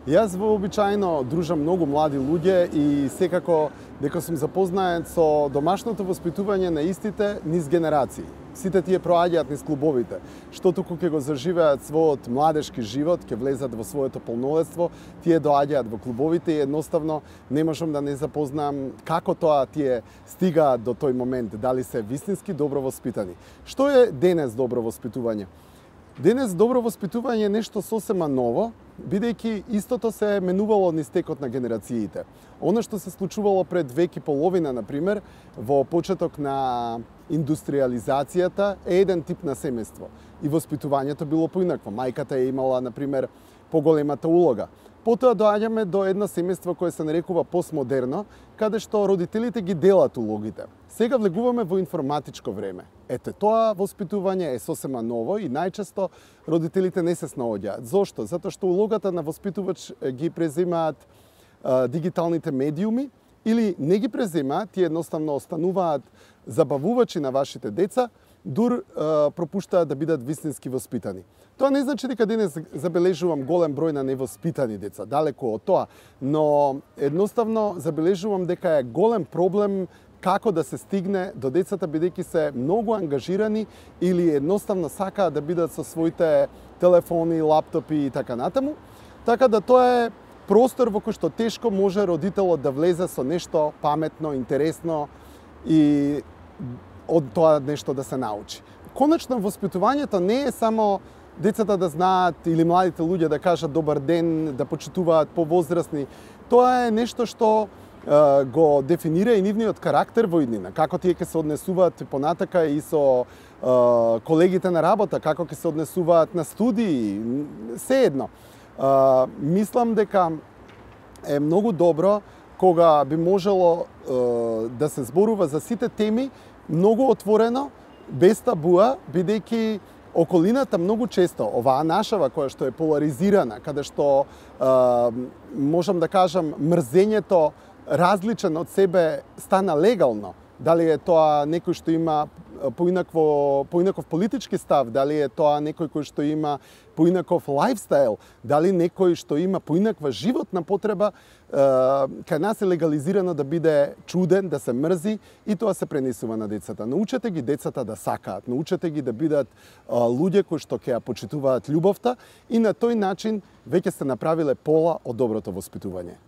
Јас вообичаено дружам многу млади луѓе и секако дека сум запознаен со домашното воспитување на истите низ генерации. Сите тие проаѓаат низ клубовите, што туку ќе го заживеат својот младешки живот, ќе влезат во своето полнолетство, тие доаѓаат во клубовите и едноставно не можам да не запознам како тоа тие стигаат до тој момент, дали се вистински добро воспитани. Што е денес добро воспитување? Денес добро воспитување е нешто сосема ново, бидејќи истото се менувало низ текот на генерациите. Оно што се случувало пред век и половина, например, во почеток на индустриализацијата е еден тип на семејство. И воспитувањето било поинакво. Мајката е имала, например, поголемата улога. Потоа доаѓаме до едно семејство кое се нарекува постмодерно, каде што родителите ги делат улогите. Сега влегуваме во информатичко време. Ете, тоа воспитување е сосема ново и најчесто родителите не се снаоѓаат. Зошто? Затоа што улогата на воспитувач ги преземаат дигиталните медиуми или не ги преземаат, тие едноставно остануваат забавувачи на вашите деца, дур пропуштаат да бидат вистински воспитани. Тоа не значи дека денес забележувам голем број на невоспитани деца, далеку од тоа, но едноставно забележувам дека е голем проблем како да се стигне до децата, бидејќи се многу ангажирани или едноставно сакаат да бидат со своите телефони, лаптопи и така натаму. Така да тоа е простор во кој што тешко може родителот да влезе со нешто паметно, интересно и од тоа нешто да се научи. Конечно, воспитувањето не е само децата да знаат или младите луѓе да кажат добар ден, да почитуваат повозрасни. Тоа е нешто што го дефинира и нивниот карактер во иднина, како тие ќе се однесуваат понатака и со колегите на работа, како ќе се однесуваат на студии, се едно. Мислам дека е многу добро кога би можело да се зборува за сите теми многу отворено, без табуа, бидејќи околината многу често, оваа нашава која што е поларизирана, каде што можам да кажам мрзењето различен од себе стана легално. Дали е тоа некој што има поинаков политички став, дали е тоа некој кој што има поинаков лајфстайл, дали некој што има поинаква животна потреба, кај нас е легализирано да биде чуден, да се мрзи и тоа се пренесува на децата. Научете ги децата да сакаат, научете ги да бидат луѓе кои што ќе ја почитуваат љубовта и на тој начин веќе сте направиле пола од доброто воспитување.